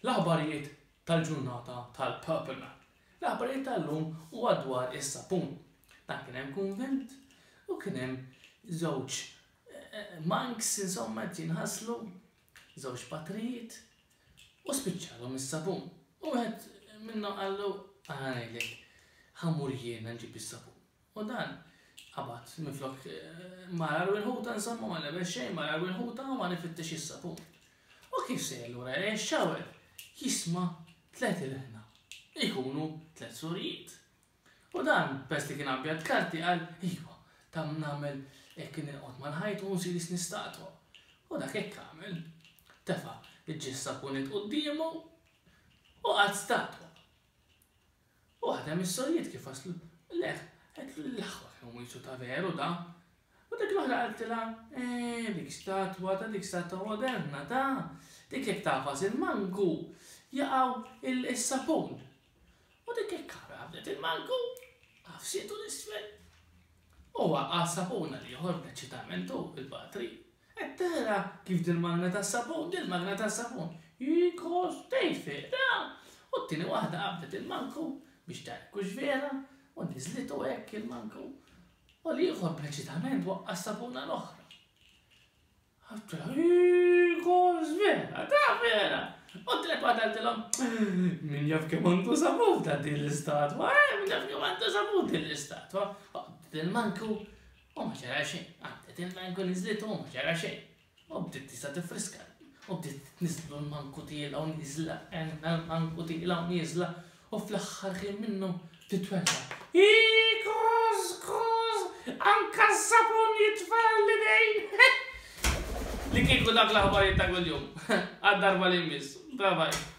L-aħbarijiet tal-ġurnata tal-Purple Man. L-aħbarijiet tal-lum huwa dwar is-sapun. Dan kien hemm kunvent u kien hemm żewġ monks insomma qed jinħaslu, żewġ patrijiet u spiċċalhom is-sapun. U wieħed minnhom qallu ara ngħidlek, ħa mmur jiena nġib is-sapun. U dan qabad minflok mar għal wieħ insomma ma lebes xejn, mar għal wieħ u mar ifittex is-sapun. U kif sejjer lura lejn ix-shower, jisma' tlett ilħna. Ikunu tlett surijiet. U dan, peress li kien abjad karti, qal, iwa, tam nagħmel hekk nilqot mal-ħajt u nsir jisni statwa. U dak hekk għamel. Tefa' il-ġis sapunit quddiemu u qagħad statwa. U waħda mis-sorijiet kif waslu leh, qaltlu l-aħwa kemm hu jisu ta' veru da. U dik l-oħra qaltilha, eh, dik statwa ta' dik statwa moderna ta' dik jekk tagħfas il-manku jaqgħu is-sapun. U dik hekk qabdet il-manku, għafsitu l-isfel. U waqa' s-sapun għal ieħor bl-eċċitament hu il-patri. Qed tara kif dil-magna tas-sapun, dil-magna tas-sapun, hi kos tgħid vera! U t-tieni waħda qabdet il-manku biex tara jekk hux vera u niżlitu hekk il-manku. U l-ieħor preċitament waqqa' s-sapuna l-oħra. Għattilha, hi kos vera, ta' vera! U t-tielet waħda qaltilhom, min jaf kemm għandu sapun ta' din l-istatwa, eh, min jaf kemm għandu sapun din l-istatwa. Qabdet il-manku U ma ġara xejn. Għaddet il-manku niżlitu u ma ġara xejn. U bdiet tista' tiffriska. U bdiet tniżlu l-manku tiela u nieżla, għenna l-manku tiela u nieżla, u fl-aħħar ħin minnu titwerra. Ii, koż, koż, anka s-sapun jitfa' l-idejn! Li kieku dak l-aħbarijiet ta' kuljum. Għad-darba li jmiss. Bye bye.